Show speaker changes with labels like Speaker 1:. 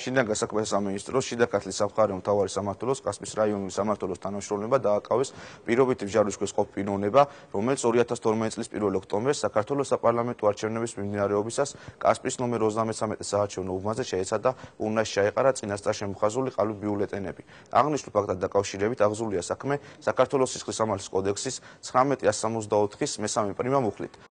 Speaker 1: შინაგან საქმეთა სამინისტროს შიდა ქართლის სამხარეო მთავარი სამმართველოს კასპიის რაიონული სამმართველოს თანამშრომლობა დააკავეს პირობითი მსჯავრების ქვეშ ყოფ პიროვნება, რომელიც 2012 წლის 1 ოქტომბერს საქართველოს საპარლამენტო არჩევნების მიმდინარეობისას კასპიის ნომერ 33 საარჩევნო უბანზე შეეცადა ურნაში ჩაეყარა წინასწარ შემოხაზული ყალბი ბიულეტენები. აღნიშნულ ფაქტთან დაკავშირებით აღძულია საქმე საქართველოს სისხლის სამართლის კოდექსის 1964-ის მესამე პრიმა მუხლით.